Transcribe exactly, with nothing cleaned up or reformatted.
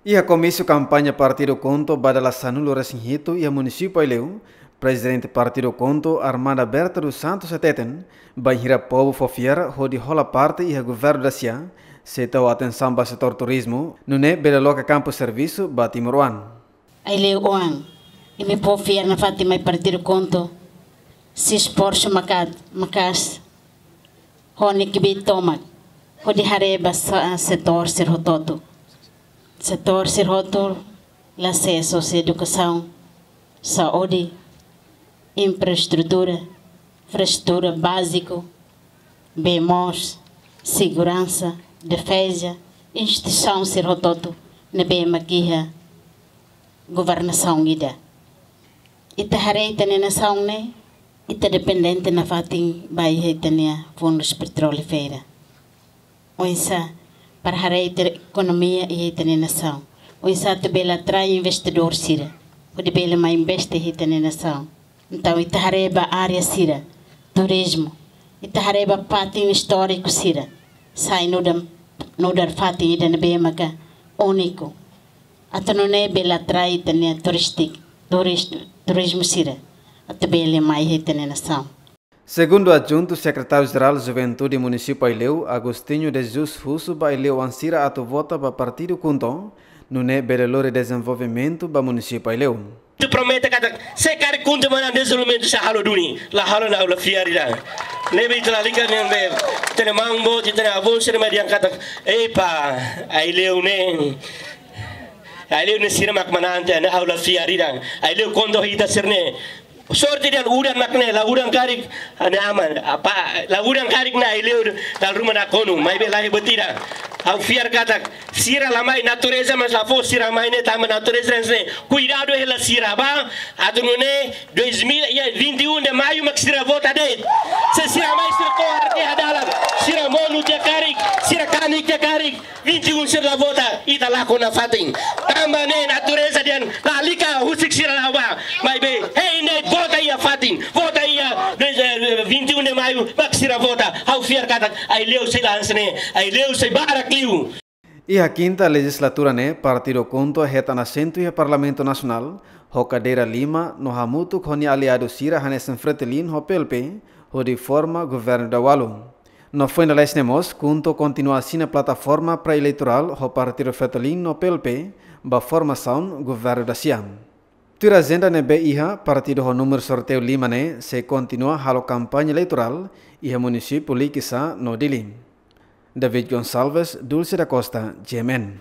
Iha komísiu kampaña partidu KHUNTO ba dala sanulu-resin-hitu iha munisípiu Aileu, Prezidente partidu KHUNTO, Armanda Berta dos Santos, hateten, bainhira povu fó fiar hodi hola parte iha governu dasia, sei tau atensaun ba setór turizmu, nune'e bele loke kampu servisu ba timoroan. Aileu oan, imi fó fiar nafatin mai partidu KHUNTO, sei esforsu makat, maka'as, ho nia kbiit tomak, hodi haree ba sa-, setór sira hotu-hotu. Setór sira hotu, la sei só edukasaun, saúde, infraestrutura, infraestrutura báziku, bee moos, seguransa, defeza, instituisaun sira hotu-hotu ne'ebé mak iha governasaun ida. Ita haree ita-nia nasaun ne'e, ita dependente nafatin ba iha ita-nia fundus petrolíferu. Oinsá, para haree ita-nia ekonomia iha ita-nia nasaun. Oinsá atu bele atrai investidór sira, hodi bele mai investe iha ita-nia nasaun. Entaun, ita haree ba área sira, turizmu. Ita haree ba fatin istóriku sira. Sai nu'udar, nu'udar fatin ida ne'ebé maka úniku. Atu nune'e bele atrai ita-nia turístik, turis-, turizmu sira. Atu bele mai iha ita-nia nasaun. Segundu Adjuntu Sekretáriu Jerál Juventude Munisípiu Aileu, Agostinho de Jesus, husu ba aileu-oan sira atu vota ba partidu KHUNTO, nune'e bele lori dezenvolvimentu ba munisípiu Aileu. Ita promete katak, se karik KHUNTO manán, dezenvolvimentu sei halo duni, la halo ona, ha'u la fiar ida. Ne'ebé ita lalika ne'ebé, ita-nia maun boot, ita-nia avó sira mai dehan katak, epa, aileu ne'e, aileu ne'e sira mak manán tiha, ne'e ha'u la fiar ida. Aileu KHUNTO ita sira-ne'e. Sorte dehan udan mak ne'e, la udan karik, ne'e aman, apa, la udan karik ne'e aileu dala ruma nakonu, maibé la iha buat ida. Ha'u fiar katak, sira la mai, natureza mak la fó sira mai ne'e, tanba natureza ne'e kuidadu hela sira ba, atu nune'e dois mil, iha vinte e um de maio mak sira vota de'it. Se sira mai, sira to'o hadi'a dalan, sira monu tiha karik, sira kanek tiha karik, vinte e um sira la vota, ita lakon nafatin. Tanba ne'e natureza dehan lalika husik sira la'o ba. Maibé, hein de'it, vota iha fatin, vota iha, eh, vinte e um de maio, mak sira vota. Ha'u fiar katak aileu sei la'o hanesan ne'e, aileu sei barak liu. Iha kinta lejizlatura ne'e, partidu KHUNTO hetan asentu iha Parlamentu Nasionál, ho kadeira lima, no hamutuk ho nia aliadu sira hanesan FRETILIN ho PLP, hodi forma governu daudaun. No foin dala hanesan ne'e mós, KHUNTO kontinua asina plataforma pré-eleitorál ho partidu FRETILIN no PLP ba formasaun governu dasia. Tuir ajenda ne'ebé iha, partidu ho númeru sorteiu lima ne'e sei kontinua halo kampaña eleitorál iha munisípiu Likisá no Dili. David Gonçalves, Dulce da Costa, G M N.